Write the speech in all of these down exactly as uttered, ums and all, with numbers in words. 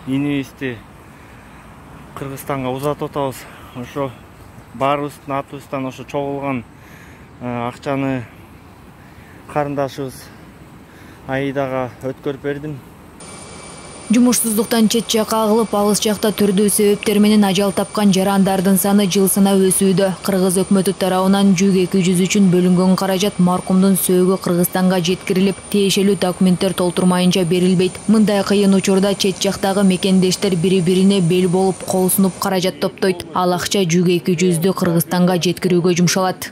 инибизди Кыргызстанга узатып атабыз. Ошо баарыбыздын атыбыздан ошо чогулган акчаны карындашыбыз Аидага өткөрүп бердим. Жумушсуздуктан чет жакка агылып, алыс жакта түрдүү себептер менен ажал тапкан жарандардын саны жыл санап өсүүдө. Кыргыз өкмөтү тарабынан жүз эки жүз үчүн бөлүнгөн каражат маркумдун сөөгү Кыргызстанга жеткирилип, тиешелүү документтер толтурмайынча берилбейт. Мындай кыйын учурда чет жактагы мекендештер бири-бирине бел болуп, кол сунуп каражат топтойт. Ал акча жүз эки жүздү Кыргызстанга жеткирүүгө жумшалат.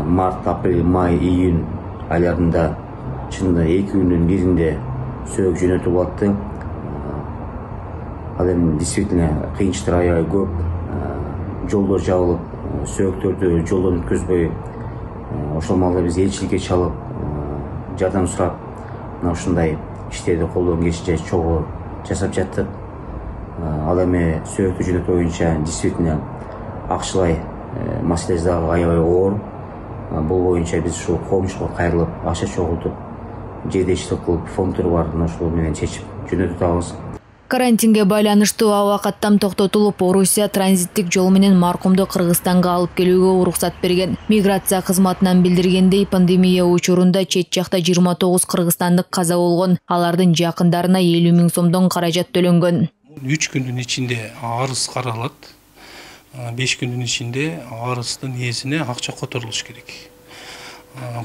Март, апрель, май, июнь айларында чынында эки күндүн биринде сөөгү жөнөтүп атты. Ал эми действительно кыйынчылыктар аябай көп. Жолдор жабылып, сөөгүктөрдү жолдон өткөзбөй, ошол маалда биз элчиликке чалып, жардам сурап, мына ушундай иштерди колдон келишинче чогуу жасап жаттык. Ал эми сөөгүктү жөнөтүү боюнча действительно акчалай маселеси дагы аябай оор. Бул боюнча биз ушул коомчулукка кайрылып, акча чогултуп, жедештик кылып, фонддор бар, ошол менен чечип жөнөтүп атабыз. Карантинге байланыштуу аба каттам токтотулуп, Орусия транзиттик жол менен маркумду Кыргызстанга алып келүүгө уруксат берген. Миграция кызматынан билдиргендей, пандемия учурунда чет жакта жыйырма тогуз кыргызстандык каза болгон. Алардын жакындарына элүү миң сомдон каражат төлөнгөн. үч күндүн ичинде арыз каралат. беш күндүн ичинде арыздын ээсине акча которулуш керек.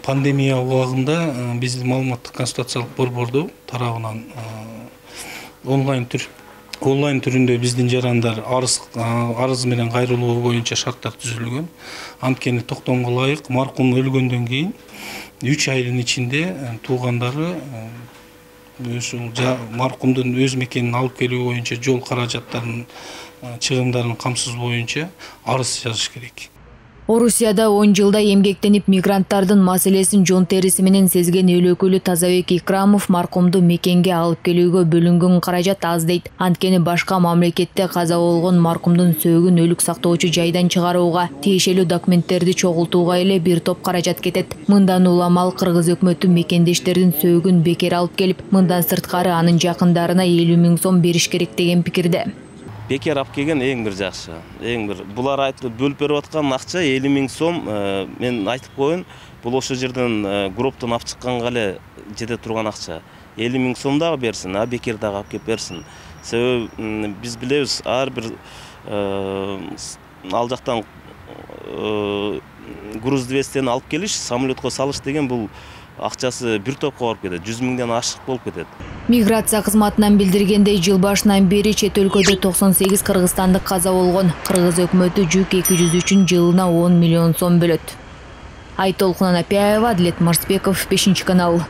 Пандемия убагында биздин маалыматтык консультациялык борборду тарабынан онлайн түр онлайн түрүндө биздин жарандар арыз арыз менен кайрылуу боюнча шарттар түзүлгөн. Анткени токтомго ылайык маркум өлгөндөн кийин үч айдын ичинде туугандары ушул маркумдун өз мекенин алып келүү боюнча жол каражаттарынын чыгымдарын камсыз боюнча арыз жазыш керек. Орусияда он жылда эмгектенип мигранттардын маселесин жон териси менен сезген эл өкүлү Тазабек Икрамов маркумду мекенге алып келүүгө бөлүнгөн каражат аз дейт. Анткени башка мамлекетте каза болгон маркумдун сөөгүн өлүк сактоочу жайдан чыгарууга, тиешелүү документтерди чогултууга эле бир топ каражат кетет. Мындан улам ал Кыргыз өкмөтү мекендештердин сөөгүн бекер алып келип, мындан сырткары анын жакындарына элүү миң сом бериш керек деген пикирде. Бекер алып келген эң бир жакшы. Эң бир булар айтып бөлүп берип аткан акча элүү миң сом, мен айтып коеюн, бул ошо жерден гроптон алып чыкканга эле жете турган акча. элүү миң сом дагы берсин, а бекер дагы алып кеп берсин. Себеби биз билебиз, ар бир ал жактан груз вестени алып келиш, самолетко салыш деген бул акчасы бир топко барып кетет, жүз миңден ашык болуп кетет. Миграция кызматынан билдиргендей, жыл башынан бери чет өлкөдө токсон сегиз кыргызстандык каза болгон. Кыргыз өкмөтү жүз эки жүз үчүн жылына он миллион сом бөлөт. Айтолкун Анапияева, Адлет Марсбеков, бешинчи канал.